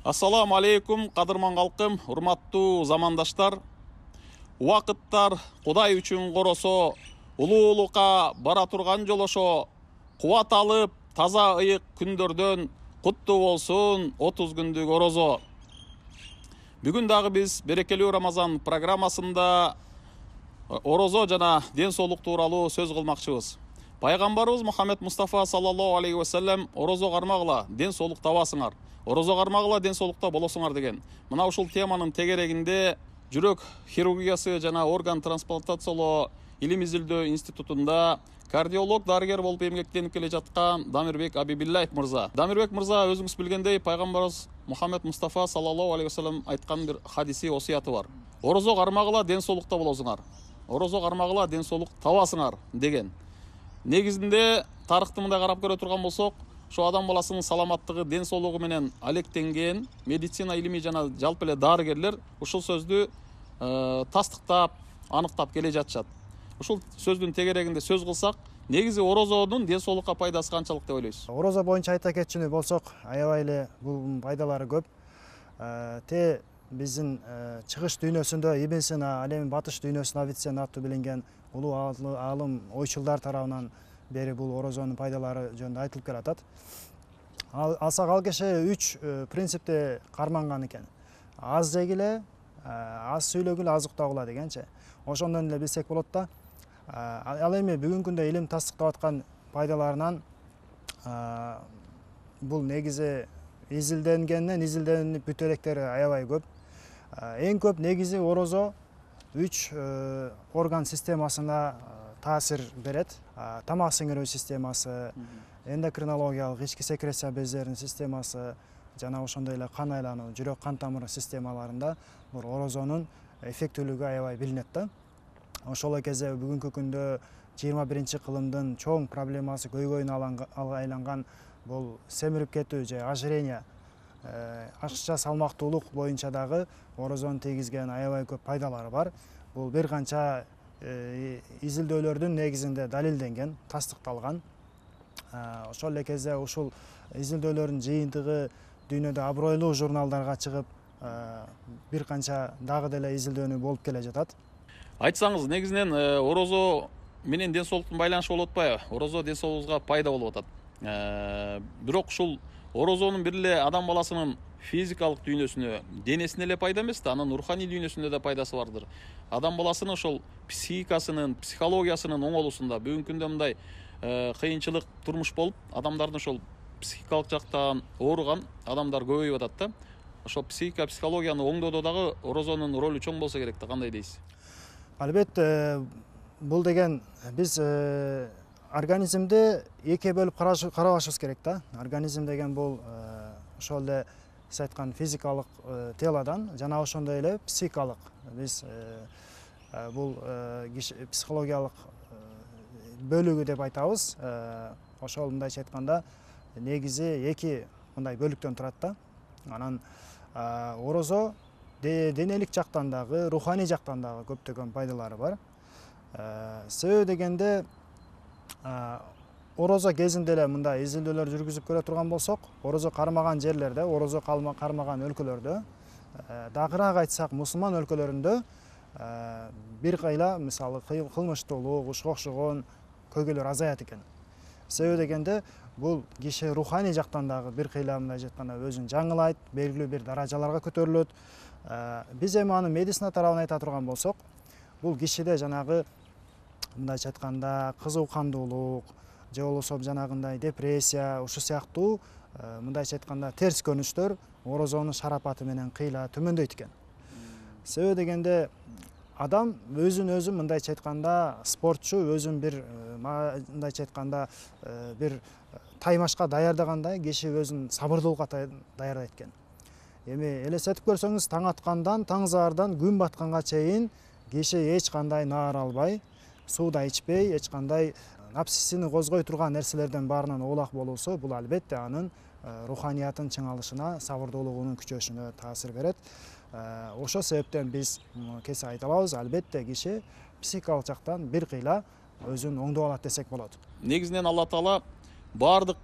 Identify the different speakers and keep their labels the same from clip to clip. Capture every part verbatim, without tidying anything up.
Speaker 1: Ассаламу алейкум, кадырман калкым, урматтуу замандаштар. Убакыттар Кудай үчүн коросо, улуулукка бара турган жолошо, кубат алып, таза ыйык күндөрдөн куттуу болсун отуз күндүк орозо. Бүгүн дагы биз берекелүү Рамазан программасында орозо жана ден соолук тууралуу сөз кылмакчыбыз. Пайгамбарыбыз Мухаммед Мустафа саллаллаху алейхи ва саллям орозо кармагыла, ден соолук табасыңар. Орозо кармагыла, ден соолукта болосуңар деген. Мына ушул теманын тегерегинде жүрөк хирургиясы жана орган трансплантациялоо илим изилдөө институтунда кардиолог дарыгер болуп эмгектенип келе жаткан Дамирбек Абибиллаев мырза. Дамирбек мырза, өзүңүз билгендей, пайгамбарыбыз Мухаммед Мустафа саллаллаху алейхи ва саллям айткан бир хадиси осуяты бар. Орозо кармагыла, ден соолукта болосуңар. Орозо кармагыла, ден соолук табасыңар деген. Негизинде тарыхты мындай карап көрө турган болсок, ошо адам баласынын саламаттыгы, ден соолугу менен алектенген медицина илими жана жалпы эле дарыгерлер ушул сөздү э, тастыктап, аныктап келе жатышат. Ушул сөздүн тегерегинде сөз кылсак, негизи орозонун ден соолукка пайдасы канчалык деп ойлойсуз?
Speaker 2: Орозо боюнча айта кетчү болсок, аябай эле бул пайдалары көп. Те биздин чыгыш дүйнөсүндө Ибн Сина, ал эми батыш дүйнөсүнүн Авиценна аттуу билинген улуу аалым ойчулдар тарабынан бери бул орозонун пайдалары жөнүндө айтылып келатат. Алсак ал киши үч принципте карманган экен. Аз жегиле, аз сүйлөгүлө, аз уктагыла дегенчи. Ошондон эле билсек болот да. Ал эми бүгүнкү күндө илим тастыктап аткан пайдаларынан бул негизи изилденгенден изилденип бүтө электери аябай көп. Эң көп негизи орозо үч орган системасына таасир берет. Тамак сиңирүү системасы, эндокринологиялык ички секреция бездеринин системасы жана ошондой эле кан айлануу, жүрөк кан тамыры системаларында бул орозонун эффектүүлүгү аябай билинет да. Ошол кезде бүгүнкү күндө жыйырма биринчи кылымдын чоң проблемасы көйгөйүнө айланган бул семирип кетүү же ожирение, ашыкча салмактуулук боюнча дагы орозонун тийгизген аябай көп пайдалары бар. Бул бир канча изилдөөлөрдүн негизинде далилденген, тастыкталган. Ошол эле кезде ушул изилдөөлөрдүн жыйынтыгы дүйнөдө абройлуу журналдарга чыгып, бир канча дагы деле изилдөөнү болуп келе жатат.
Speaker 1: Айтсаңыз, негизинен орозо менен ден соолуктун байланышы болуп атпайбы? Орозо ден соолугубузга пайда болуп атат. Бирок ушул орозонун бир эле адам баласынын физикалык дүйнөсүнө, денесине эле пайда эмес да, анын руханий дүйнөсүндө да пайдасы бардыр. Адам баласынын ошол психикасынын, психологиясынын оңолуусунда бүгүнкү күндө мындай кыйынчылык турмуш болуп, адамдардын ошол психикалык жактан ооруган адамдар көбөйүп атат да. Ошол психика, психологияны оңдоодо дагы орозонун ролу чоң болсо керек да, кандай дейсиз?
Speaker 2: Албетте, бул деген биз организмди эки бөлүп карабашыбыз керек да. Организм деген бул ошол эле сиз айткан физикалык телодон жана ошондой эле психикалык. Биз бул психологиялык бөлүгү деп айтабыз. Ошол мындайча айтканда негизи эки мындай бөлүктөн турат да. Анан орозо денелик жактан дагы, руханий жактан дагы көптөгөн пайдалары бар. Себеби дегенде орозо кезинде эле мындай изилдөөлөр жүргүзүп көрө турган болсок, орозо кармаган жерлерде, орозо кармаган өлкөлөрдө, дагыраак айтсак мусулман өлкөлөрүндө бир кайла мисалы кылмыштуулук, ушуга окшогон көйгөйлөр азаят экен. Себеби дегенде бул киши руханий жактан дагы бир кыйла мындайча айтканда өзүн жаңылайт, белгилүү бир даражаларга көтөрүлөт. Биз эми аны медицина тарабын айта турган болсок, бул кишиде жанагы мындайча айтканда кызуу кандуулук же болбосо жанагындай депрессия, ушул сыяктуу мындайча айтканда терс көрүнүштөр орозонун шарапаты менен кыйла төмөндөйт экен. Себеби дегенде адам өзүн өзү мындайча айтканда спортчу өзүн бир мындайча айтканда бир таймашка даярдагандай киши өзүн сабырдуулукка даярдайт экен. Эми элестетип көрсөңүз, таң аткандан таң заардан күн батканга чейин киши эч кандай наар албай, суу да ичпей, эч кандай напсисин козгой турган нерселерден баарынан оолак болуусу, бул албетте анын руханиятын чыңалышына, сабырдуулугунун күчөшүнө таасир берет. Ошол себептен биз кесе айта алабыз, албетте киши психикалык жактан бир кыйла өзүн оңдоп алат десек болот.
Speaker 1: Негизинен Алла Таала баардык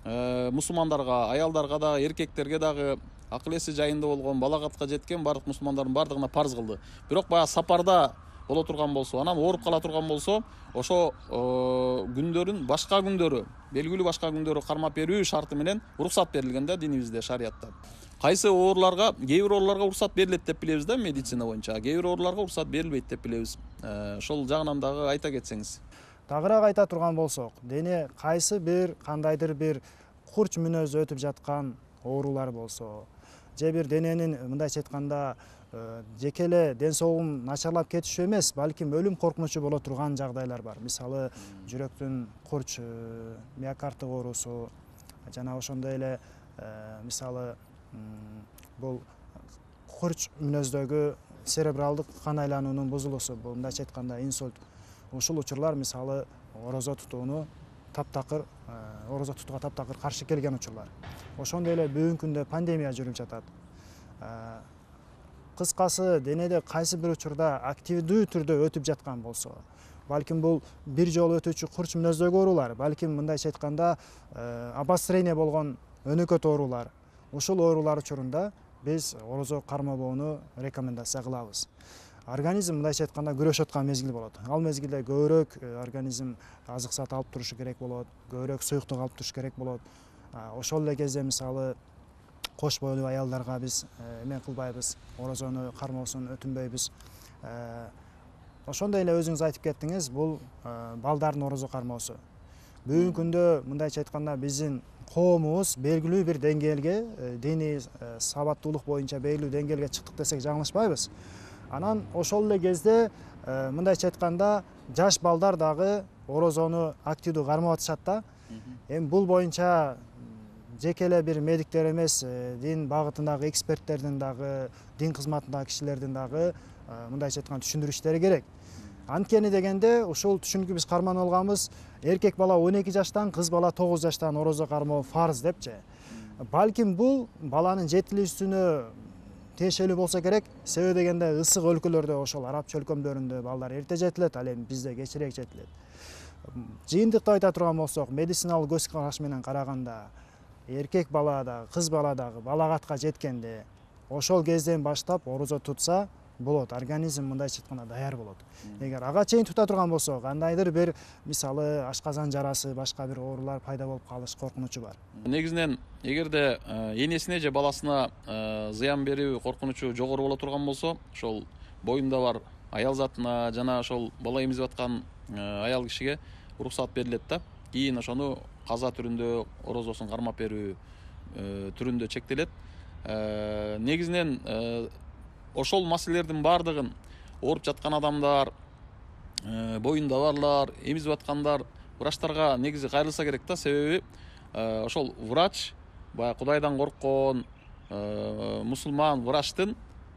Speaker 1: мусулмандарга, аялдарга да, эркектерге дагы акыл эси жайында болгон, балагатка жеткен бардык мусулмандардын бардыгына парз кылды. Бирок баягы сапарда боло турган болсо, анан ооруп кала турган болсо, ошо күндөрүн башка күндөрү, белгилүү башка күндөрү кармап берүү шарты менен уруксат берилген да динибизде, шариятта. Кайсы ооруларга, кээ бир ооруларга уруксат берилет деп билебиз да медицина боюнча, кээ бир ооруларга уруксат берилбейт деп билебиз. Ошол жагынан дагы айта кетсеңиз.
Speaker 2: Тагыраак айта турган болсок, дене кайсы бир кандайдыр бир курч мүнөздө өтүп жаткан оорулар болсо, же бир дененин мындайча айтканда жеке эле ден соолугун начарлап кетиши эмес, балким өлүм коркунучу боло турган жагдайлар бар. Мисалы, жүрөктүн курч, миокардтык оорусу, жана ошондой эле мисалы бул курч мүнөздөгү церебралдык кан айлануунун бузулуусу, бул мындайча айтканда инсульт. Ушул учурлар мисалы орозо тутууну таптакыр, орозо тутууга таптакыр каршы келген учурлар. Ошондой эле бүгүнкү күндө пандемия жүрүп жатат. Кыскасы, денеде кайсы бир учурда активдүү түрдө өтүп жаткан болсо, балким бул бир жолу өтүүчү курч мүнөздөгү оорулар, балким мындайча айтканда обострение болгон өнөкөт оорулар. Ушул оорулар учурунда биз орозо кармабоону рекомендация кылабыз. Организм мындайча айтканда күрөшүп аткан мезгил болот. Ал мезгилде көбүрөөк организм азык зат алып турушу керек болот, көбүрөөк суюктук алып туруш керек болот. Ошол эле кезде мисалы кош бойлуу аялдарга биз эме кылбайбыз, орозону кармоосун өтүнбөйбүз. Ошондой эле өзүңүз айтып кеттиңиз, бул балдардын орозо кармоосу. Бүгүнкү күндө мындайча айтканда биздин коомубуз белгилүү бир деңгээлге, диний сабаттуулук боюнча белгилүү деңгээлге чыктык десек жаңылышпайбыз. Анан ошол эле кезде мындайча айтканда жаш балдар дагы орозону активдүү кармап атышат да. Эми бул боюнча жеке эле бир медиктер эмес, дин багытындагы эксперттердин дагы, дин кызматындагы кишилердин дагы мындайча айтканда түшүндүрүштөрү керек. Анткени дегенде ушул түшүнүккө биз карманып алганбыз, эркек бала он эки жаштан, кыз бала тогуз жаштан орозо кармоо фарз депчи. Балким бул баланын жетилүүсүнө тиешелүү болсо керек. Себеби дегенде ысык өлкөлөрдө, ошол араб чөлкөмдөрүндө балдар эрте жетилет, ал эми бизде кечирээк жетилет. Жыйынтыктап айта турган болсок, медициналык көз караш менен караганда, эркек бала да, кыз бала дагы балагатка жеткенде, ошол кезден баштап орозо тутса болот, организм мындайча айтканда даяр болот. Эгер ага чейин тута турган болсо, кандайдыр бир мисалы ашказан жарасы, башка бир оорулар пайда болуп калыш коркунучу бар.
Speaker 1: Негизинен эгерде энесине же баласына зыян берүү коркунучу жогору боло турган болсо, ошол боюнда бар аял затына жана ошол бала эмизип аткан аял кишиге уруксат берилет да. Кийин ошону каза түрүндө орозосун кармап берүү түрүндө чектелет. Негизинен ошол маселелердин баардыгын ооруп жаткан адамдар, боюнда барлар, эмизип аткандар врачтарга негизи кайрылса керек да. Себеби ошол врач, баягы Кудайдан корккон мусулман врачтын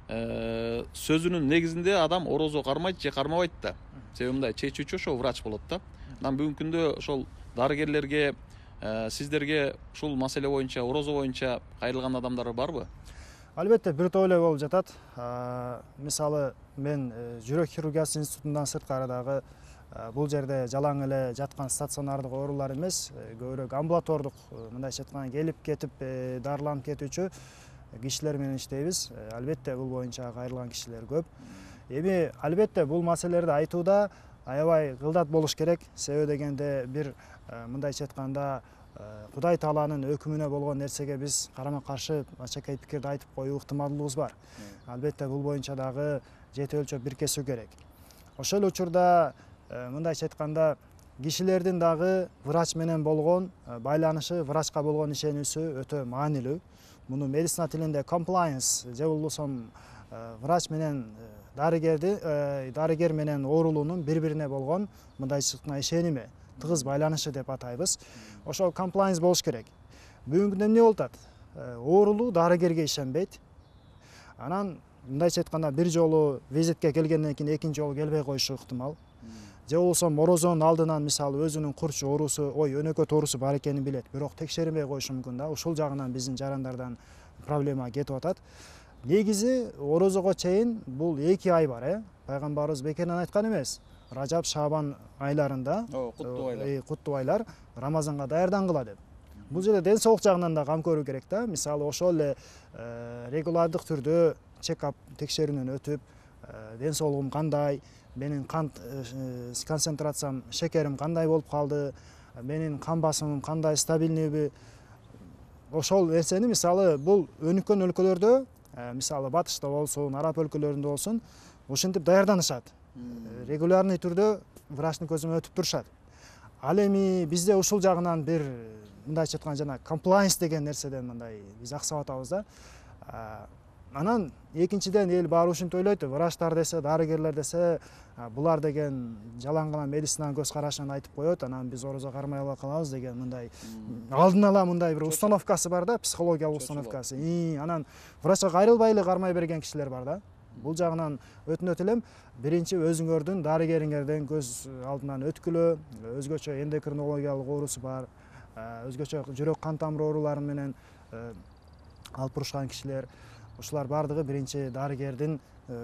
Speaker 1: сөзүнүн негизинде адам орозо кармайт же кармабайт да. Себеби мындай чечүүчү ошол врач болот да. Анан бүгүнкү күндө ошол дарыгерлерге, сиздерге ушул маселе боюнча, орозо боюнча кайрылган адамдар барбы?
Speaker 2: Албетте, бир топ эле болуп жатат. Мисалы, мен жүрөк хирургиясы институтундан сырткары дагы бул жерде жалаң эле жаткан стационардык оорулар эмес, көбүрөөк амбулатордук, мындайча айтканда келип кетип дарыланып кетүүчү кишилер менен иштейбиз. Албетте, бул боюнча кайрылган кишилер көп. Эми албетте бул маселелерди айтууда аябай кылдат болуш керек. Себеби дегенде бир мындайча айтканда Кудай Тааланын өкүмүнө болгон нерсеге биз карама каршы ачакай пикирди айтып коюу ыктымалдуулугубуз бар. Албетте, бул боюнча дагы жете өлчөп биркесүү керек. Ошол учурда мындайча айтканда кишилердин дагы врач менен болгон байланышы, врачка болгон ишенүүсү өтө маанилүү. Муну медицина тилинде compliance же болбосо врач менен дарыгерди, дарыгер менен оорулуунун бири-бирине болгон мындайча айтканда ишеними, тыгыз байланышы деп атайбыз. Ошол compliance болуш керек. Бүгүнкү күндө эмне болуп атат? Оорулуу дарыгерге ишенбейт. Анан мындайча айтканда бир жолу визитке келгенден кийин экинчи жолу келбей коюшу ыктымал. Же болбосо орозонун алдынан мисалы өзүнүн курч оорусу, ой, өнөкөт оорусу бар экенин билет, бирок текшерилбей коюшу мүмкүн да. Ушул жагынан биздин жарандардан проблема кетип атат. Негизи орозого чейин бул эки ай бар, э? Пайгамбарыбыз бекеринен айткан эмес. Ражаб, Шабан айларында, куттуу айлар, Рамазанга даярдангыла деп. Бул жерде ден соолук жагынан да кам көрүү керек да. Мисалы ошол эле регулардык түрдө чекап текшерүүнөн өтүп, ден соолугум кандай, менин кант концентрациям, шекерим кандай болуп калды, менин кан басымым кандай, стабильныйбы. Ошол нерсени мисалы бул өнүккөн өлкөлөрдө, мисалы батышта болсун, араб өлкөлөрүндө болсун, ушинтип даярданышат. Регулярный түрдө врачтын көзүнөн өтүп турушат. Ал эми бизде ушул жагынан бир мындайча айтканда жана комплайнс деген нерседен мындай биз аксап атабыз да. Анан экинчиден эл баары ушинтип ойлойт, врачтар десе, дарыгерлер десе, булар деген жалаң гана медицинанын көз карашын айтып коет, анан биз орозо кармай ала калабыз деген мындай алдын ала мындай бир установкасы бар да, психологиялык установкасы. Анан врачка кайрылбай эле кармай берген кишилер бар да. Бул жагынан өтүнөт элем, биринчи өзүңөрдүн дарыгериңерден көз алдынан өткүлө, өзгөчө эндокринологиялык оорусу бар, өзгөчө жүрөк кан тамыр оорулары менен алып бурушкан кишилер, ушулар баардыгы биринчи дарыгердин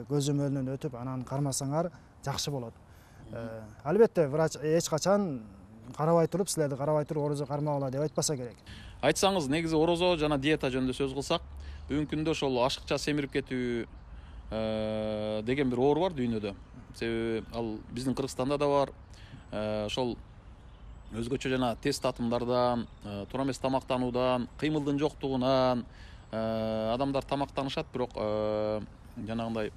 Speaker 2: көзөмөлүнөн өтүп, анан кармасаңар жакшы болот. Албетте, врач эч качан карабай туруп, силерди карабай туруп орозо кармагыла деп айтпаса керек.
Speaker 1: Айтсаңыз, негизи орозо жана диета жөнүндө сөз кылсак, бүгүнкү күндө ошол ашыкча семирип кетүү деген бир оору бар дүйнөдө. Себеби ал биздин Кыргызстанда да бар. Ошол өзгөчө жана тез татымдардан, туура эмес тамактануудан, кыймылдын жоктугунан адамдар тамактанышат, бирок жанагындай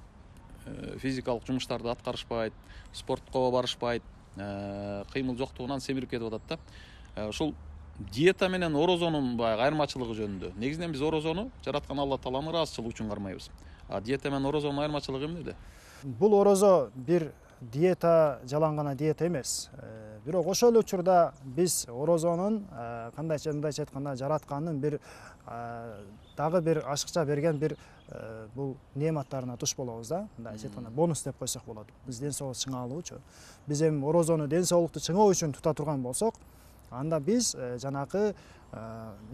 Speaker 1: физикалык жумуштарды аткарышпайт, спортко барышпайт, кыймыл жоктугунан семирип кетип атат да. Ушул диета менен орозонун баягы айырмачылыгы жөнүндө. Негизинен биз орозону жараткан Алла Тааланын ыраазычылыгы үчүн кармайбыз. А диета менен орозонун айырмачылыгы эмнеде?
Speaker 2: Бул орозо бир диета, жалаң гана диета эмес. Бирок ошол эле учурда биз орозонун кандайча мындайча айтканда жараткандын бир дагы бир ашыкча берген бир бул неаматтарына туш болобуз да. Мындайча айтканда бонус деп койсок болот. Биз ден соолук чыңалуучу. Биз эми орозону ден соолукту чыңоо үчүн тута турган болсок, анда биз жанакы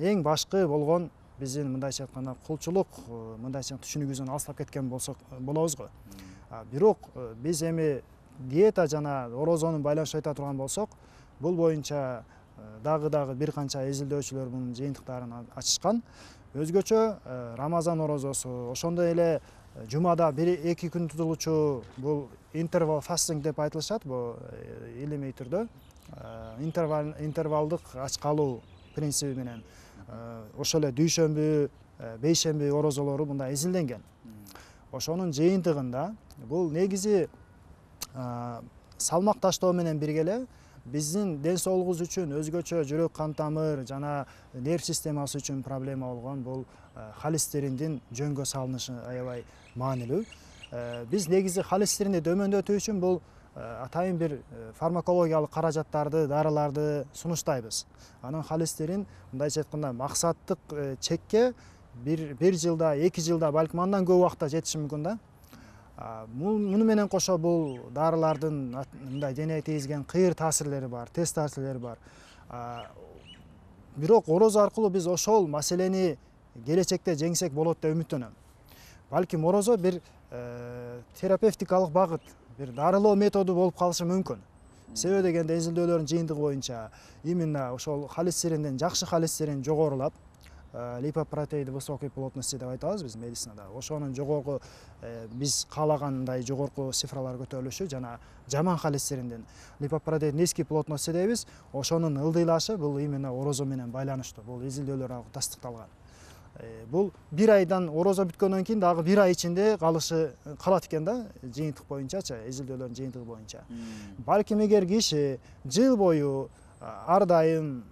Speaker 2: эң башкы болгон биздин мындайча айтканда кулчулук, мындайча түшүнүгүбүздөн алыстап кеткен болсок болобуз го. Бирок биз эми диета жана орозонун байланышын айта турган болсок, бул боюнча дагы дагы бир канча изилдөөчүлөр мунун жыйынтыктарын ачышкан. Өзгөчө Рамазан орозосу, ошондой эле жумада бир эки күн тутулуучу бул интервал фастинг деп айтылышат, бул илимий түрдө. Интервал интервалдык ач калуу принциби менен ошол эле дүйшөмбү, бейшемби орозолору мындай изилденген. Ошонун жыйынтыгында бул негизи салмак таштоо менен бирге эле биздин ден соолугубуз үчүн өзгөчө жүрөк кан тамыр жана нерв системасы үчүн проблема болгон бул холестериндин жөнгө салынышы аябай маанилүү. Биз негизи холестеринди төмөндөтүү үчүн бул атайын бир фармакологиялык каражаттарды, дарыларды сунуштайбыз. Анан холестерин мындайча айтканда максаттык чекке бир жылда, эки жылда, балким андан көп убакта жетиши мүмкүн да. Муну менен кошо бул дарылардын мындай денеге тийгизген кыйыр таасирлери бар, терс таасирлери бар. Бирок орозо аркылуу биз ошол маселени келечекте жеңсек болот деп үмүттөнөм. Балким орозо бир терапевтикалык багыт, бир дарылоо методу болуп калышы мүмкүн. Себеби дегенде изилдөөлөрдүн жыйынтыгы боюнча именно ошол холестеринден жакшы холестерин жогорулап, липопротеиды высокой плотности деп айтабыз биз медицинада. Ошонун жогорку биз каалагандай жогорку цифралар көтөрүлүшү жана жаман холестеринден липопротеид низкий плотности дейбиз. Ошонун ылдыйлашы бул именно орозо менен байланыштуу. Бул изилдөөлөр тастыкталган. Бул бир айдан орозо бүткөндөн кийин дагы бир ай ичинде калышы калат экен да, жыйынтык боюнчачы, изилдөөлөрдүн жыйынтыгы боюнча. Балким эгер киши жыл бою ар дайым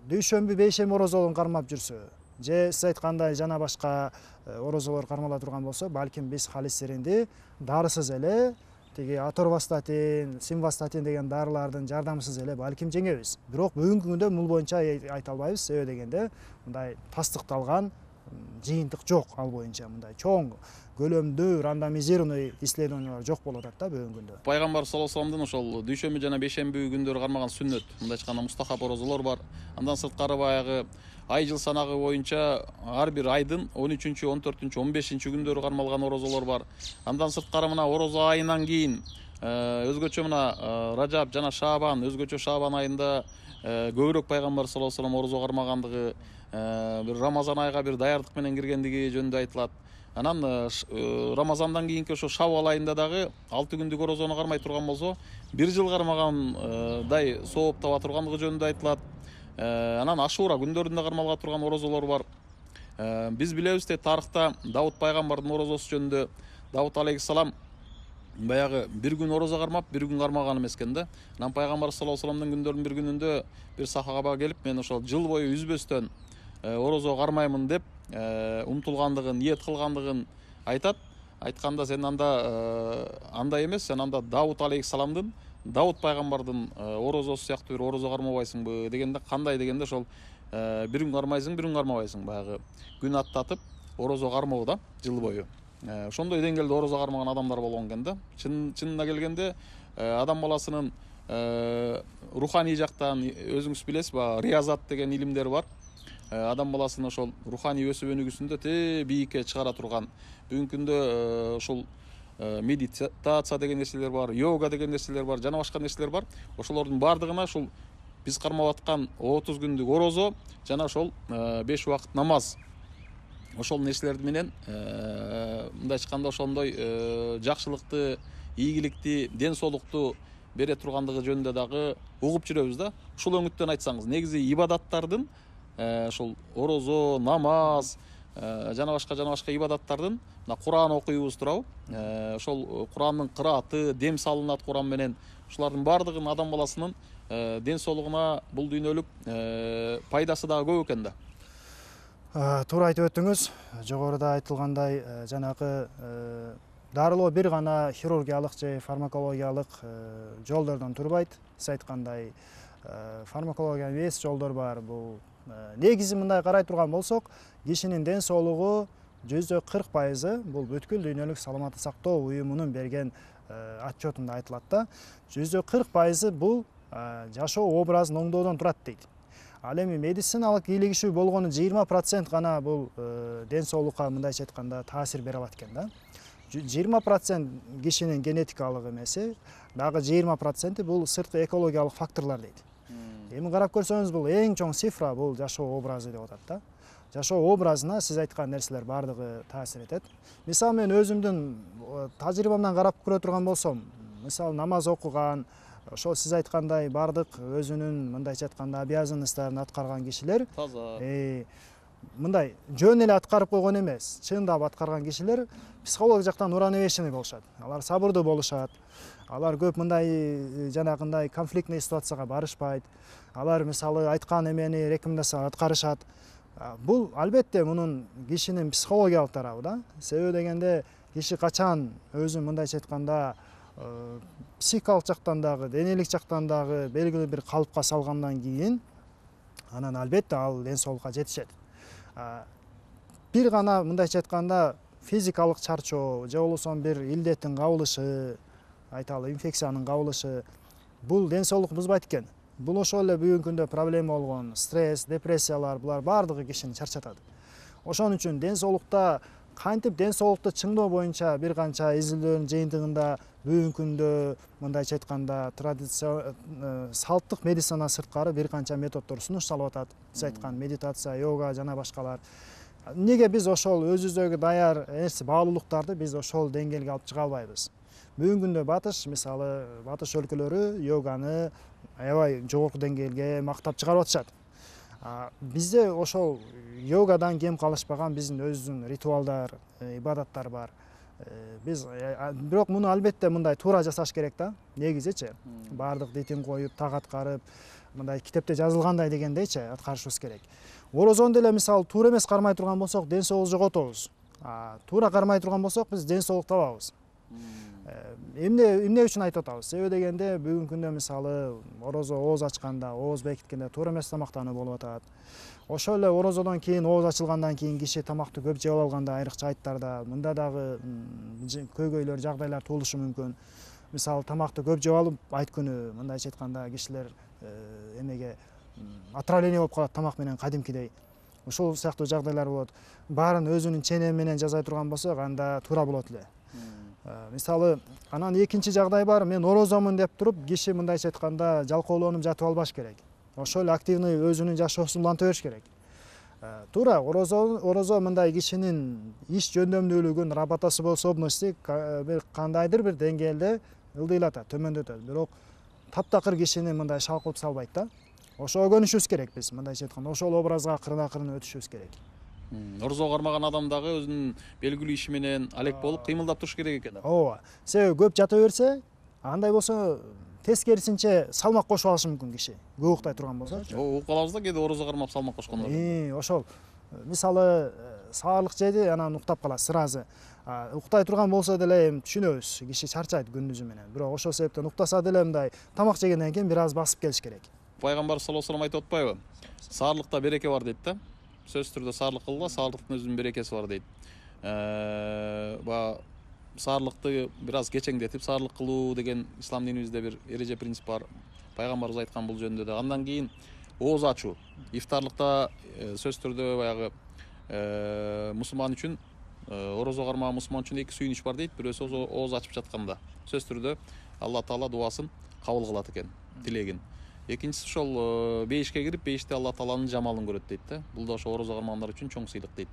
Speaker 2: дүйшөмбү, бейшемби орозолорун кармап жүрсө, же сиз айткандай жана башка орозолор кармала турган болсо, балким биз холестеринди дарысыз эле, тиги аторвастатин, симвастатин деген дарылардын жардамысыз эле балким жеңебиз. Бирок бүгүнкү күндө бул боюнча айта албайбыз, себеби дегенде мындай тастыкталган жыйынтык жок ал боюнча, мындай чоң көлөмдүү рандомизированный исследованиялар жок болуп атат да бүгүнкү күндө.
Speaker 1: Пайгамбар саллаллаху алейхи вассаламдын ошол дүйшөмбү жана бейшемби күндөрү кармаган сүннөт, мындай айтканда мустахаб орозолор бар. Андан сырткары баягы ай жыл санагы боюнча ар бир айдын он үчүнчү, он төртүнчү, он бешинчи күндөрү кармалган орозолор бар. Андан сырткары мына орозо айынан кийин өзгөчө мына Ражаб жана Шаабан, өзгөчө Шаабан айында көбүрөөк пайгамбар саллаллаху алейхи вассалам орозо кармагандыгы, бир Рамазан айга бир даярдык менен киргендиги жөнүндө айтылат. Анан Рамазандан кийинки ошо Шавал айында дагы алты күндүк орозону кармай турган болсо, бир жыл кармагандай сооп таба тургандыгы жөнүндө айтылат. Анан Ашура күндөрүндө кармалга турган орозолор бар. Биз билебиз де, тарыхта Давут пайгамбардын орозосу жөнүндө Давут алейхиссалам баягы бир күн орозо кармап, бир күн кармаган эмес экен да. Анан пайгамбар саллаллаху алейхи вассаламдын күндөрүнүн бир күнүндө бир сахаба келип, мен ошол жыл бою үзбөстөн орозо кармаймын деп умтулгандыгын, ниет кылгандыгын айтат. Айтканда, сен анда андай эмес, сен анда Давут алейхиссаламдын, Давут пайгамбардын орозосу сыяктуу бир орозо кармабайсыңбы дегенде, кандай дегенде, ошол бир күн кармайсың, бир күн кармабайсың, баягы күн аттатып орозо кармоо да, жыл бою. Ошондой деңгээлде орозо кармаган адамдар болгон экен да. Чынына келгенде адам баласынын руханий жактан, өзүңүз билесиз, риязат деген илимдер бар. Адам баласынын ошол руханий өсүп өнүгүүсүндө те бийикке чыгара турган. Бүгүнкү күндө ошол медитация деген нерселер бар, йога деген нерселер бар, жана башка нерселер бар. Ошолордун баардыгына ушул биз кармап аткан отуз күндүк орозо жана ошол беш убакыт намаз, ошол нерселер менен мындай айтканда ошондой жакшылыкты, ийгиликти, ден соолукту бере тургандыгы жөнүндө дагы угуп жүрөбүз да. Ушул өңүттөн айтсаңыз, негизи ибадаттардын, ошол орозо, намаз жана башка жана башка ибадаттардын, мына Куран окуйбуз турабы, ошол Курандын кырааты, дем салынат Куран менен. Ушулардын баардыгын адам баласынын ден соолугуна, бул дүйнөлүк пайдасы дагы көп экен да.
Speaker 2: Туура айтып өттүңүз. Жогоруда айтылгандай, жанагы дарылоо бир гана хирургиялык же фармакологиялык жолдордон турбайт. Сиз айткандай, фармакологиянын эс жолдор бар. Бул негизи мындай карай турган болсок, кишинин ден соолугу жүздө кырк пайызы бул бүткүл дүйнөлүк саламаттык сактоо уюмунун берген отчетунда айтылат да. жүздө кырк пайызы бул жашоо образын оңдоодон турат дейт. Ал эми медициналык ийгилигишүү болгону жыйырма процент гана бул ден соолукка мындайча айтканда таасир бере алат экен да. жыйырма процент кишинин генетикалык эмеси, дагы жыйырма проценти бул сырткы экологиялык факторлор дейт. Эми карап көрсөңүз, бул эң чоң цифра, бул жашоо образы деп атат да. Жашоо образына сиз айткан нерселер баардыгы таасир этет. Мисалы, мен өзүмдүн тажрыйбамдан карап көрө турган болсом, мисалы намаз окуган, ошол сиз айткандай баардык өзүнүн мындайча айтканда обязанностторун аткарган кишилер,
Speaker 1: Таза.
Speaker 2: мындай жөн эле аткарып койгон эмес, чындап аткарган кишилер психологик жактан уравновешенный болушат. Алар сабырдуу болушат. Алар көп мындай жанагындай конфликтный ситуацияга барышпайт. Алар мисалы айткан эмени рекомендация аткарышат. Бул албетте мунун кишинин психологиялык тарабы да. Себеби дегенде, киши качан өзүн мындайча айтканда психикалык жактан дагы, денелик жактан дагы белгилүү бир калыпка салгандан кийин, анан албетте ал ден соолукка жетишет. Бир гана мындайча айтканда физикалык чарчоо же болбосо бир илдеттин кабылышы, айталы инфекциянын кабылышы, бул ден соолук бузбайт экен. Бул ошол эле бүгүнкү күндө проблема болгон стресс, депрессиялар, булар баардыгы кишини чарчатат. Ошон үчүн ден соолукта, кантип ден соолукту чыңдоо боюнча бир канча изилдөөнүн жыйынтыгында бүгүнкү күндө мындайча айтканда традиция салттык медицина сырткары бир канча методдор сунушталып атат. Сиз айткан медитация, йога жана башкалар. Неге биз ошол өзүбүздөгү даяр нерсе баалуулуктарды биз ошол деңгээлге алып чыга албайбыз? Бүгүнкү күндө батыш, мисалы, батыш өлкөлөрү йоганы аябай жогорку деңгээлге мактап чыгарып атышат. Бизде ошол йогадан кем калышпаган биздин өзүбүздүн ритуалдар, ибадаттар бар. Биз бирок муну албетте мындай туура жасаш керек да. Негизичи баардык ритм коюп, так аткарып, мындай китепте жазылгандай дегендейчи аткарышыбыз керек. Орозону деле мисалы туура эмес кармай турган болсок, ден соолук жоготобуз. Туура кармай турган болсок, биз ден соолук табабыз. Эмне эмне үчүн айтып атабыз? Себеби дегенде, бүгүнкү күндө мисалы орозо ооз ачканда, ооз бекиткенде туура эмес тамактануу болуп атат. Ошол эле орозодон кийин, ооз ачылгандан кийин киши тамакты көп жеп алганда, айрыкча айттарда мында дагы көйгөйлөр, жагдайлар туулушу мүмкүн. Мисалы тамакты көп жеп алып, айт күнү мындайча айтканда кишилер эмеге отравление болуп калат тамак менен кадимкидей. Ошол сыяктуу жагдайлар болот. Баарын өзүнүн ченеми менен жасай турган болсок, анда туура болот эле. Мисалы, анан экинчи жагдай бар, мен орозомун деп туруп, киши мындайча айтканда жалкоолонуп жатып албаш керек. ошол эле активный өзүнүн жашоосун уланта бериш керек. Туура, орозо орозо мындай кишинин иш жөндөмдүүлүгүн, работоспособности бир кандайдыр бир деңгээлде ылдыйлатат, төмөндөтөт. Бирок таптакыр кишини мындай шалкылып салбайт да. Ошого көнүшүбүз керек биз, мындайча айтканда, ошол образга кырына-кырына өтүшүбүз керек.
Speaker 1: Орозого кармаган адам дагы өзүнүн белгилүү иши менен алек болуп кыймылдап туруш керек экен.
Speaker 2: Ооба. Себеби көп жата берсе, андай болсо тескерисинче салмак кошуп алышы мүмкүн киши. Көп уктай турган болсочу.
Speaker 1: Угуп калабыз да, кээде орозо кармап салмак кошкондор.
Speaker 2: Ошол. Мисалы, саарлык жеди, анан уктап калат сразу. Уктай турган болсо деле эми түшүнөбүз, киши чарчайт күндүзү менен. Бирок ошол себептен уктаса деле мындай тамак жегенден кийин бир аз басып келиш керек.
Speaker 1: Пайгамбар саллаллаху алейхи айтып атпайбы? Саарлыкта береке бар дейт да. Сөзсүз түрдө саарлык кылгыла, саарлыктын өзүнүн берекеси бар дейт. Баягы саарлыкты бир аз кечеңдетип саарлык кылуу деген ислам динибизде бир эреже принцип бар. Пайгамбарыбыз айткан бул жөнүндө да. Андан кийин ооз ачуу. Ифтарлыкта сөзсүз түрдө баягы мусулман үчүн, орозо кармаган мусулман үчүн эки сүйүнүч бар дейт. Бирөөсү ооз ачып жатканда. Сөзсүз түрдө Алла Таала дуасын кабыл кылат экен, тилегин. Экинчиси ошол бейишке кирип, бейиште Алла Тааланын жамалын көрөт дейт да. Бул да ошо орозо кармагандар үчүн чоң сыйлык дейт.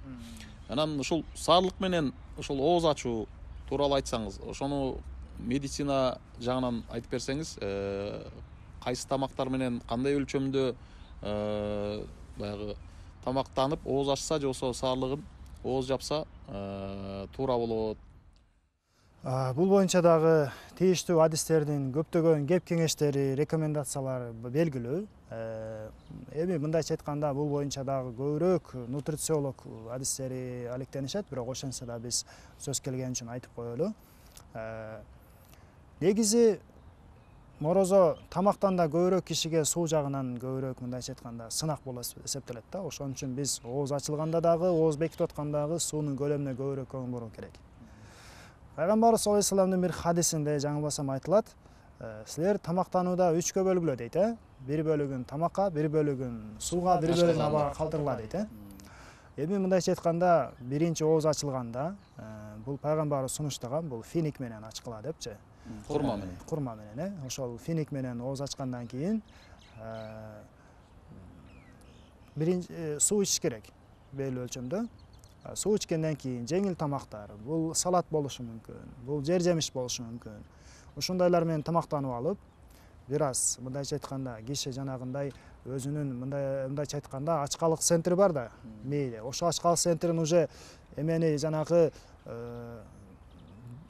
Speaker 1: Анан ушул саарлык менен ошол ооз ачуу тууралуу айтсаңыз, ошону медицина жагынан айтып берсеңиз, кайсы тамактар менен кандай өлчөмдө баягы тамактанып ооз ачса же болбосо саарлыгын ооз жапса туура болот.
Speaker 2: Бул боюнча дагы тийиштүү адистердин көптөгөн кеп кеңештери, рекомендациялары белгилүү. Эми мындайча айтканда бул боюнча дагы көбүрөөк нутрициолог адистери алектенишет, бирок ошентсе да биз сөз келген үчүн айтып коелу. Негизи орозо тамактан да көбүрөөк кишиге суу жагынан көбүрөөк мындайча айтканда сынак болуп эсептелет да. Ошон үчүн биз ооз ачылганда дагы, ооз бекитип атканда дагы суунун көлөмүнө көбүрөөк көңүл буруу керек. Пайгамбарыбыз саллаллаху алейхи вассаламдын бир хадисинде жаңылбасам айтылат, силер тамактанууда үчкө бөлгүлө дейт, э? Бир бөлүгүн тамакка, бир бөлүгүн сууга, бир бөлүгүн абага калтыргыла дейт, э? Эми мындайча айтканда, биринчи ооз ачылганда, бул пайгамбарыбыз сунуштаган, бул финик менен ачкыла депчи.
Speaker 1: Курма менен.
Speaker 2: Курма менен, э? Ошол финик менен ооз ачкандан кийин биринчи суу ичиш керек, белгилүү өлчөмдө. Суу ичкенден кийин жеңил тамактар, бул салат болушу мүмкүн, бул жер жемиш болушу мүмкүн. Ушундайлар менен тамактанып алып, бир аз мындайча айтканда киши жанагындай өзүнүн мындай мындайча айтканда ачкалык центри бар да, мээде. Ошо ачкалык центрин уже эмени жанагы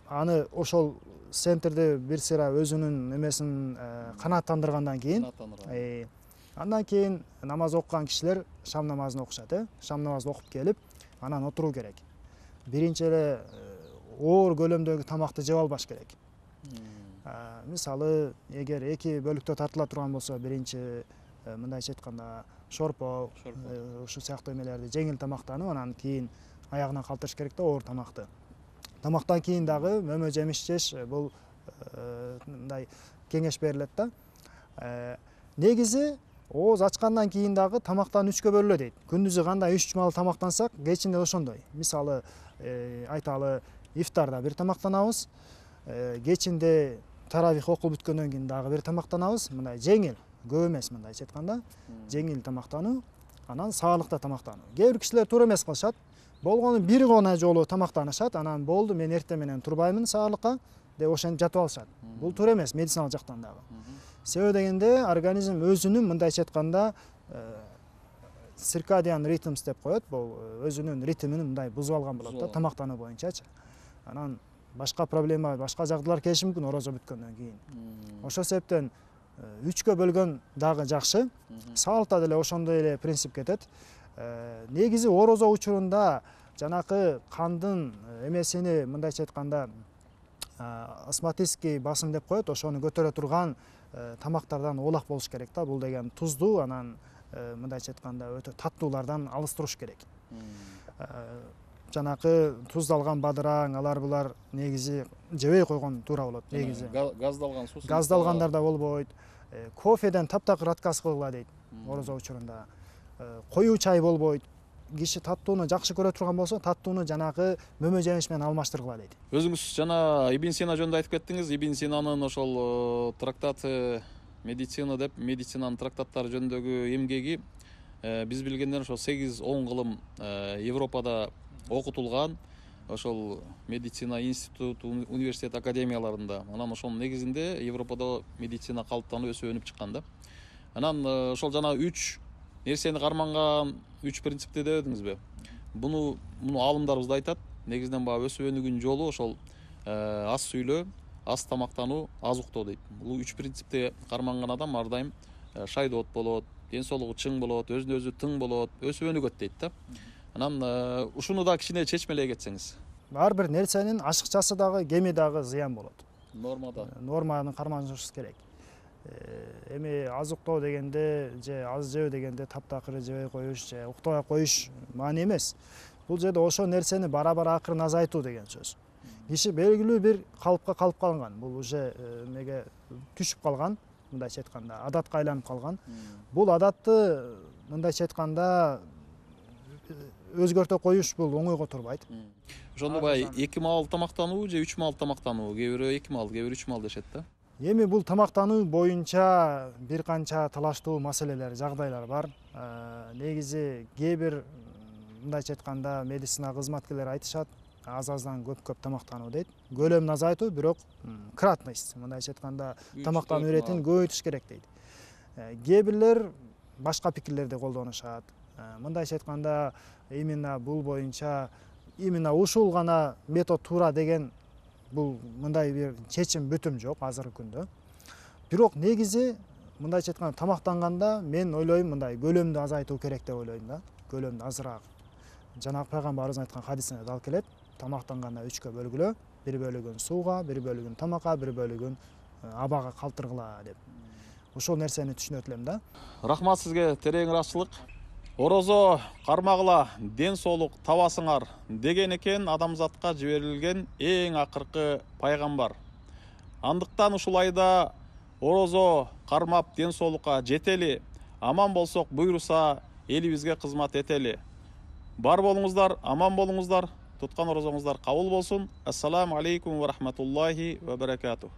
Speaker 2: аны ошол центрди бир сыйра өзүнүн эмесин канааттандыргандан кийин, андан кийин намаз окуган кишилер шам намазын окушат, э? Шам намазын окуп келип, анан отуруу керек. Биринчи эле оор көлөмдөгү тамакты жеп албаш керек. Мисалы, эгер эки бөлүктө тартыла турган болсо, биринчи мындайча айтканда шорпо, ушул сыяктуу эмелерди жеңил тамактанып, анан кийин аягына калтырыш керек да оор тамакты. Тамактан кийин дагы мөмө жемиш жеш, бул мындай кеңеш берилет да. Негизи ооз ачкандан кийин дагы тамактан үчкө бөлүнө дейт. Күндүзү кандай үч маал тамактансак, кечинде ошондой. Мисалы, айталы, ифтарда бир тамактанабыз, кечинде таравих окуп бүткөндөн кийин дагы бир тамактанабыз. Мындай жеңил, көп эмес мындайча айтканда, жеңил тамактануу, анан саарлыкта тамактануу. Кээ бир кишилер туура эмес кылышат. Болгону бир гана жолу тамактанышат, анан болду, мен эртең менен турбаймын саарлыкка деп ошентип жатып алышат. Бул туура эмес медициналык жактан дагы. Себеби дегенде организм өзүнүн мындайча айтканда циркадиан ритмс деп коет, бул өзүнүн ритмин мындай бузуп алган болот да тамактануу боюнчачы. Анан башка проблема, башка жагдайлар келиши мүмкүн орозо бүткөндөн кийин. Ошол себептен үчкө бөлгөн дагы жакшы. Саалыкта деле ошондой эле принцип кетет. Негизи орозо учурунда жанакы кандын эмесини мындайча айтканда астматический басым деп коет, ошону көтөрө турган тамактардан оолак болуш керек да. Бул деген туздуу, анан мындайча айтканда өтө таттуулардан алыс туруш керек. Жанакы туздалган бадыраң, алар булар негизи жебей койгон туура болот негизи.
Speaker 1: Газдалган суус.
Speaker 2: Газдалгандар да болбойт. Кофеден таптакыр отказ кылгыла дейт орозо учурунда. Коюу чай болбойт. Киши таттууну жакшы көрө турган болсо, таттууну жанагы мөмө жемиш менен алмаштыргыла дейт.
Speaker 1: Өзүңүз жана Ибн Сина жөнүндө айтып кеттиңиз. Ибн Синанын ошол трактаты медицина деп медицинанын трактаттары жөнүндөгү эмгеги биз билгенден ошо сегиз он кылым Европада окутулган, ошол медицина институт, университет академияларында. Анан ошонун негизинде Европада медицина калыптанып өсүп өнүп чыккан да. Анан ошол жана үч нерсени карманган үч принципти дебедиңизби? Буну муну аалымдарыбыз да айтат. Негизинен баягы өсүп өнүгүүнүн жолу ошол аз сүйлөө, аз тамактануу, аз уктоо дейт. Бул үч принципти карманган адам ар дайым шайдоот болот, ден соолугу чың болот, өзүнө өзү тың болот, өсүп өнүгөт дейт да. Анан ушуну да кичине чечмелей кетсеңиз.
Speaker 2: Ар бир нерсенин ашыкчасы дагы, кеми дагы зыян болот.
Speaker 1: Нормада.
Speaker 2: Норманы карманышыбыз керек. Эми аз уктоо дегенде же аз жөө дегенде таптакыр жебей коюш же уктабай коюш маани эмес. Бул жерде ошол нерсени бара-бара акырын азайтуу деген сөз. Киши белгилүү бир калыпка калып калган. Бул уже эмеге түшүп калган, мындайча айтканда, адатка айланып калган. Бул адатты мындайча айтканда өзгөртө коюш бул оңойго турбайт.
Speaker 1: Ошондо баягы эки маал тамактануу же үч маал тамактануу, кээ бирөө эки маал, кээ бирөө үч маал дешет да.
Speaker 2: Эми бул тамактануу боюнча бир канча талаштуу маселелер, жагдайлар бар. Негизи кээ бир мындайча айтканда медицина кызматкерлери айтышат, аз-аздан көп-көп тамактануу дейт. Көлөмүн азайтуу, бирок кратность, мындайча айтканда тамактануу иретин көбөйтүш керек дейт. Кээ бирлер башка пикирлерди колдонушат. Мындайча айтканда именно бул боюнча именно ушул гана метод туура деген бул мындай бир чечим бүтүм жок азыркы күндө. Бирок негизи мындайча айтканда тамактанганда мен ойлойм мындай көлөмдү азайтуу керек деп ойлойм да. Көлөмдү азыраак. Жанагы пайгамбарыбыз айткан хадисине дал келет. Тамактанганда үчкө бөлгүлө, бир бөлүгүн сууга, бир бөлүгүн тамакка, бир бөлүгүн абага калтыргыла деп. Ошол нерсени түшүнөт элем да.
Speaker 1: Рахмат сизге, терең ырахчылык. Орозо кармагыла, ден соолук табасыңар деген экен адамзатка жиберилген эң акыркы пайгамбар. Андыктан ушул айда орозо кармап ден соолукка жетели, аман болсок буйруса элибизге кызмат этели. Бар болуңуздар, аман болуңуздар, туткан орозоңуздар кабыл болсун. Ассаламу алейкум ва рахматуллахи ва баракатух.